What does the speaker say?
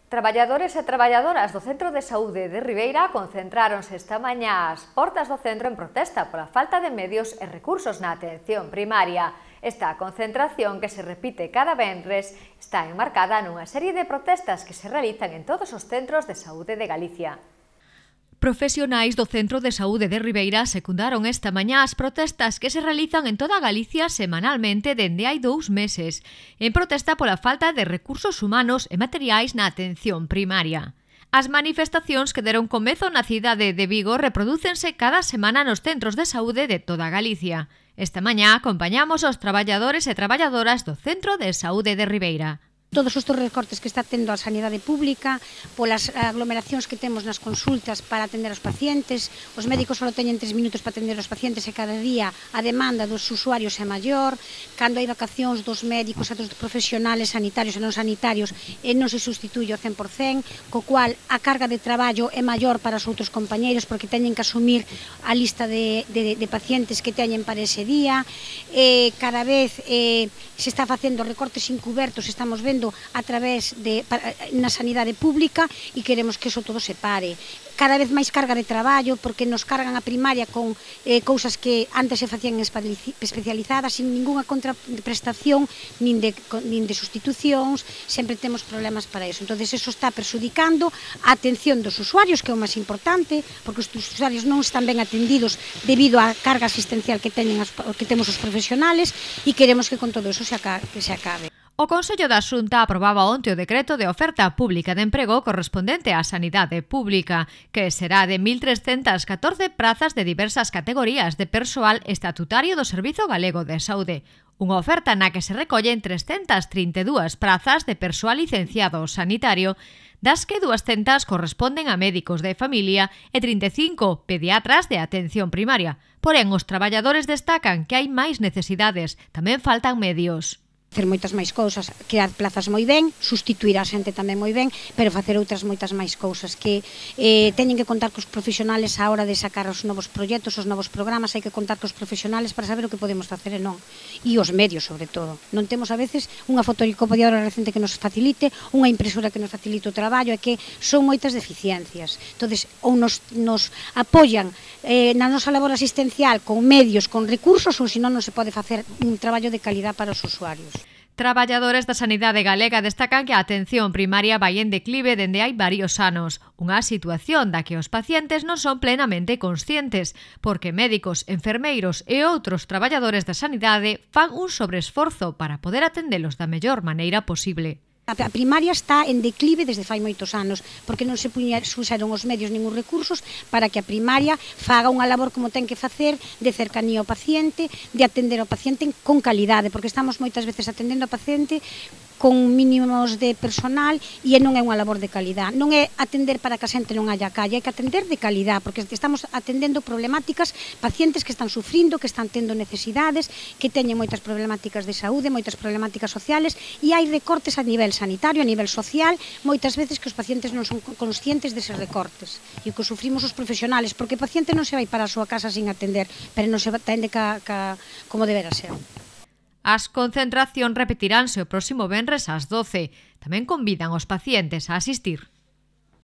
Traballadores e traballadoras do Centro de Saúde de Ribeira concentráronse esta mañá ás portas do centro en protesta pola falta de medios e recursos na atención primaria. Esta concentración, que se repite cada venres, está enmarcada nunha serie de protestas que se realizan en todos os centros de saúde de Galicia. Profesionais do Centro de Saúde de Ribeira secundaron esta mañá as protestas que se realizan en toda Galicia semanalmente dende hai 2 meses, en protesta pola falta de recursos humanos e materiais na atención primaria. As manifestacións que deron comezo na cidade de Vigo reprodúcense cada semana nos centros de saúde de toda Galicia. Esta mañá acompañamos aos traballadores e traballadoras do Centro de Saúde de Ribeira. Todos estes recortes que está tendo a sanidade pública, polas aglomeracións que temos nas consultas para atender aos pacientes, os médicos só teñen 3 minutos para atender aos pacientes e cada día a demanda dos usuarios é maior, cando hai vacacións dos médicos e dos profesionales sanitarios e non sanitarios e non se sustituye ao 100%, co cual a carga de traballo é maior para os outros compañeiros porque teñen que asumir a lista de pacientes que teñen para ese día, cada vez se está facendo recortes encubertos, estamos vendo a través na sanidade pública e queremos que eso todo se pare. Cada vez máis carga de traballo porque nos cargan a primaria con cousas que antes se facían especializadas sin ninguna contraprestación nin de sustitucións, sempre temos problemas para eso. Entón, eso está perxudicando a atención dos usuarios, que é o máis importante, porque os usuarios non están ben atendidos debido á carga asistencial que temos os profesionales e queremos que con todo eso se acabe. O Consello da Xunta aprobaba onte o decreto de oferta pública de emprego correspondente á sanidade pública, que será de 1.314 prazas de diversas categorías de persoal estatutario do Servizo Galego de Saúde. Unha oferta na que se recollen 332 prazas de persoal licenciado sanitario, das que 200 corresponden a médicos de familia e 35 pediatras de atención primaria. Porén, os traballadores destacan que hai máis necesidades, tamén faltan medios. Facer moitas máis cousas, crear plazas moi ben, sustituir a xente tamén moi ben, pero facer outras moitas máis cousas que teñen que contar cos profesionales á hora de sacar os novos proxectos, os novos programas, hai que contar cos profesionales para saber o que podemos facer e non. E os medios, sobre todo. Non temos a veces unha fotocopiadora recente que nos facilite, unha impresora que nos facilite o traballo, é que son moitas deficiencias. Entonces, ou nos apoian na nosa labor asistencial con medios, con recursos, ou senón non se pode facer un traballo de calidad para os usuarios. Traballadores da sanidade galega destacan que a atención primaria vai en declive dende hai varios anos, unha situación da que os pacientes non son plenamente conscientes, porque médicos, enfermeiros e outros traballadores da sanidade fan un sobreesforzo para poder atendelos da mellor maneira posible. A primaria está en declive desde fai moitos anos, porque non se puxeron os medios nin os recursos para que a primaria faga unha labor como ten que facer de cercanía ao paciente, de atender ao paciente con calidade, porque estamos moitas veces atendendo ao paciente con mínimos de personal e non é unha labor de calidad. Non é atender para que a xente non haya calle, hai que atender de calidad, porque estamos atendendo problemáticas, pacientes que están sufrindo, que están tendo necesidades, que teñen moitas problemáticas de saúde, moitas problemáticas sociales, e hai recortes a nivel sanitario, a nivel social, moitas veces que os pacientes non son conscientes deses recortes, e que sufrimos os profesionales, porque o paciente non se vai para a súa casa sin atender, pero non se atende como debera ser. As concentracións repetiránse o próximo venres ás 12. Tamén convidan os pacientes a asistir.